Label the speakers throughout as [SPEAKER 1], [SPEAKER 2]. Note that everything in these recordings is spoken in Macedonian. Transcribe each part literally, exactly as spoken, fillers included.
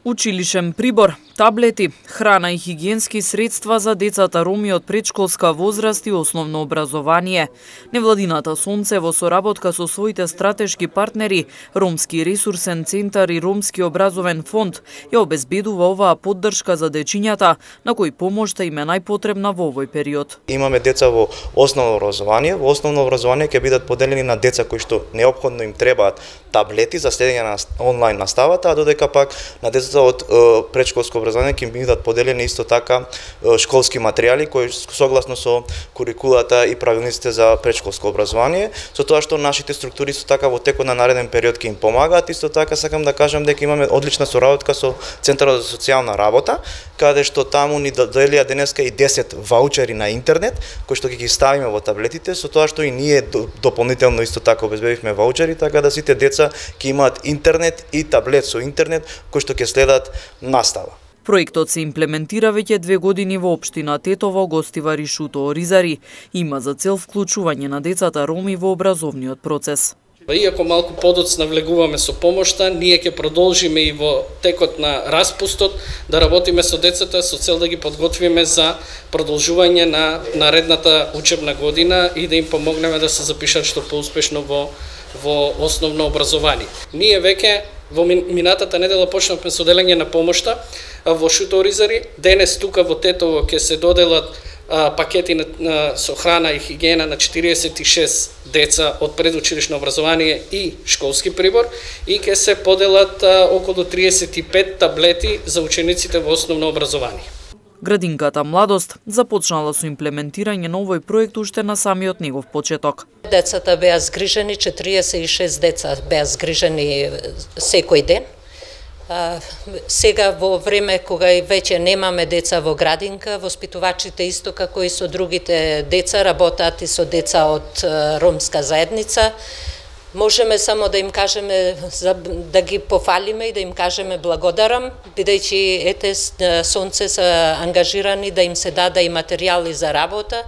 [SPEAKER 1] Училишен прибор, таблети, храна и хигиенски средства за децата роми од предшколска возраст и основно образование. Невладината Сонце во соработка со своите стратешки партнери, Ромски ресурсен центар и Ромски образовен фонд, ја обезбедува оваа поддршка за дечињата, на кои помошта им е најпотребна во овој период.
[SPEAKER 2] Имаме деца во основно образование. Во основно образование ќе бидат поделени на деца кои што неопходно им требаат таблети за следење на онлайн наставата, а додека пак на децата од предшколско образование ќе бидат поделени исто така школски материјали кои согласно со курикулата и правилниците за предшколско образование, со тоа што нашите структури исто така во текот на нареден период ќе им помагаат. Исто така сакам да кажам дека имаме одлична соработка со Центарот за социјална работа, каде што таму ни доделија денеска и десет ваучери на интернет кои што ќе ги ставиме во таблетите, со тоа што и ние дополнително исто така обезбедивме ваучери, така да сите деца ќе имаат интернет и таблет со интернет кои што ќе следат настава.
[SPEAKER 1] Проектот се имплементира веќе две години во општина Тетово, Гостивари, Шуто, Оризари. Има за цел вклучување на децата роми во образовниот процес.
[SPEAKER 3] Иако малку подоцна влегуваме со помошта, ние ќе продолжиме и во текот на распустот да работиме со децата со цел да ги подготвиме за продолжување на наредната учебна година и да им помогнеме да се запишат што поуспешно во во основно образование. Ние веќе во минатата недела почнавме со делење на помошта во Шуто, Оризари. Денес тука во Тетово ќе се доделат а, пакети на, на, со храна и хигиена на четириесет и шест деца од предучилишно образование и школски прибор и ќе се поделат а, околу триесет и пет таблети за учениците во основно образование.
[SPEAKER 1] Градинката Младост започнала со имплементирање на овој проект уште на самиот негов почеток.
[SPEAKER 4] Децата беа згрижени, четириесет и шест деца беа згрижени секој ден. А, сега во време кога и веќе немаме деца во градинка, воспитувачите исто како и со другите деца работат и со деца од ромска заедница. Можеме само да им кажеме, да ги пофалиме и да им кажеме благодарам, бидејќи ете Сонце се ангажирани да им се даде и материјали за работа,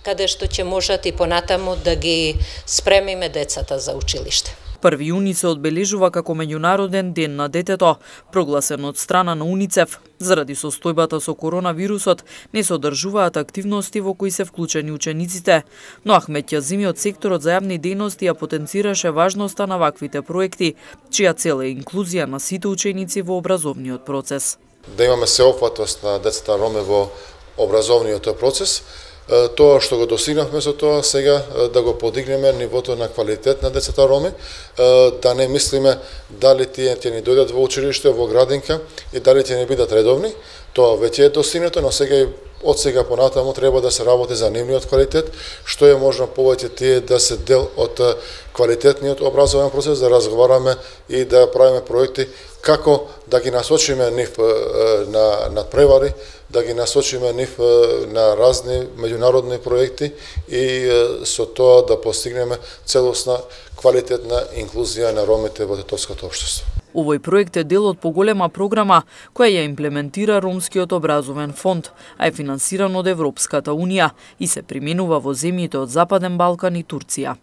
[SPEAKER 4] каде што ќе можат и понатаму да ги спремиме децата за училиште.
[SPEAKER 1] први јуни се одбележува како меѓународен ден на детето, прогласен од страна на УНИЦЕФ. Заради состојбата со коронавирусот не се одржуваат активности во кои се вклучени учениците, но Ахмет Ќазими од секторот за јавни дејности ја потенцираше важноста на ваквите проекти, чија цел е инклузија на сите ученици во образовниот процес.
[SPEAKER 5] Да имаме сеопфатност на децата роми во образовниот процес. Тоа што го достигнавме со тоа, сега да го подигнеме нивото на квалитет на децата роми, да не мислиме дали тие ќе ни дојдат во училиште, во градинка и дали ќе не бидат редовни. Тоа веќе е достигнато, но сега и од сега понатаму треба да се работи за нивниот квалитет, што е можно повеќе тие да се дел од квалитетниот образовен процес, да разговараме и да правиме проекти како да ги насочиме нив на надпревари, да ги насочиме нив на разни меѓународни проекти и со тоа да постигнеме целосна квалитетна инклузија на ромите во тетовското општество.
[SPEAKER 1] Овој проект е дел од поголема програма која ја имплементира Ромскиот образовен фонд, а е финансиран од Европската унија и се применува во земјите од Западен Балкан и Турција.